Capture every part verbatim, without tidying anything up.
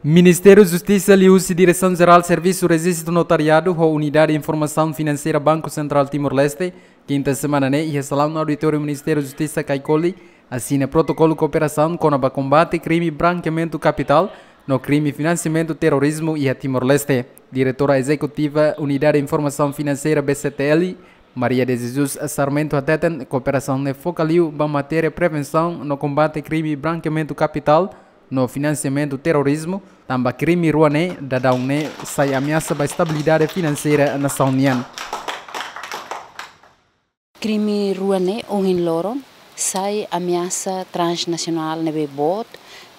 Ministériu Justisa liuhusi Diresaun Jerál Servisu Rejistu Notariadu ho Unidade Informasaun Finanseira Banku Sentrál Timor-Leste, kinta semana ne'e iha salaun auditóriu Ministériu Justisa Kaikoli, asina protokolu kooperasaun kona-ba kombate krime brankeamentu kapitál no krime finansiamentu terrorizmu iha Timor-Leste. Diretora Ezekutiva Unidade Informasaun Finanseira B C T L, Maria de Jesus Sarmento hateten, kooperasaun ne'e foka liu ba matéria prevensaun no kombate krime brankeamentu kapitál no finansiamentu terrorizmu, tanba krime rua ne'e daudaun ne'e sai ameasa ba estabilidade finanseira nasaun nian. Krime rua ne'e ohin loron sai ameasa transnasionál ne'ebé boot,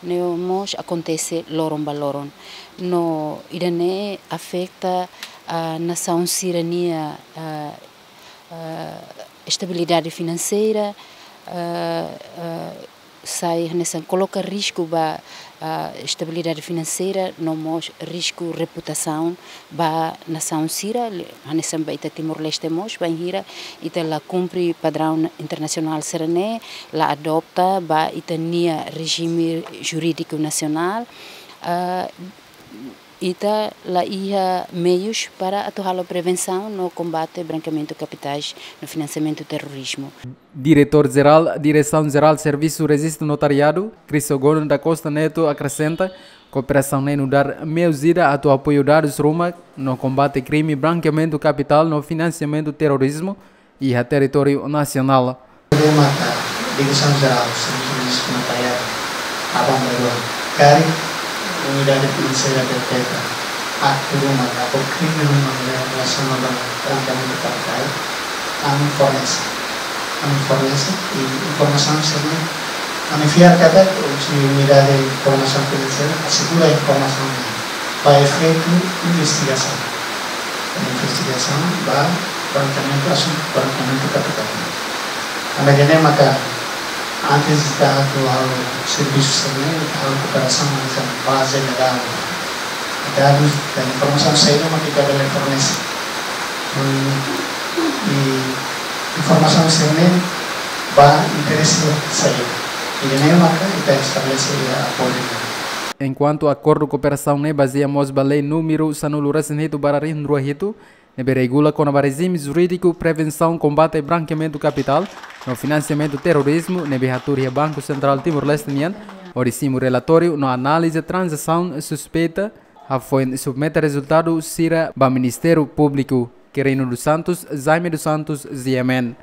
ne'e mós akontese loron ba loron. No ida-ne'e afeta, ah, nasaun sira-nia, ah, ah, estabilidade finanseira, ah, ah, sai hanesan koloka risku ba, ah, estabilidade finanseira no mós risku reputasaun ba nasaun sira, li-, hanesan ba ita Timor-Leste mós, bainhira ita la kumpre padraun internasionál sira-ne'e, la adopta ba ita-nia rejime jurídiku nasionál, ah, ita la iha meius para atu halo prevensaun no kombate brankeamentu kapitais no finansiamentu terrorizmu. Diretór Jerál Diresaun Jerál Servisu Rejistu Notariadu, Crisogono da Costa Neto, akresenta, kooperasaun ne'e nu'udar meius ida atu apoiu dadus ruma no kombate krime brankeamentu kapitál no finansiamentu terrorizmu iha territóriu nasionál. Problema ka Diresaun Jerál Servisu Rejistu Notariadu aban-bainrua karik Unidade Finanseira deteta aktu ruma ka ou krime ruma ne'ebé relasaun ho brankeamentu kapitál, ami fornese. Ami fornese i informasaun sira-ne'e, ami fiar katak husi Unidade Koordenasaun Finanseira asegura informasaun ne'e ba efeitu investigasaun. Investigasaun ba brankeamentu, asuntu brankeamentu kapitál. Tanba ne'e maka antes ita atu halo servisu sira-ne'e, ita halo kooperasaun hanesan baze de dadus. Dadus ka informasaun saida mak ita bele fornese. Hmm, i informasaun sira-ne'e ba interese saida. Ida-ne'e maka ita estabelese iha akordu. Enkuantu akordu kooperasaun ne'e bazeia mós ba lei númeru sanulu-resin-hitu barra rihun rua hitu, ne'ebé regula kona-ba rejime jurídiku prevensaun kombate brankeamentu kapitál no finansiamentu terrorizmu, ne'ebé hatuur iha Banku Sentrál Timor-Leste nian, hodi simu relatóriu no analiza tranzasaun suspeita, hafoin submete rezultadu sira ba Ministériu Públiku. Quirino dos Santos, Jaime dos Santos, G M N.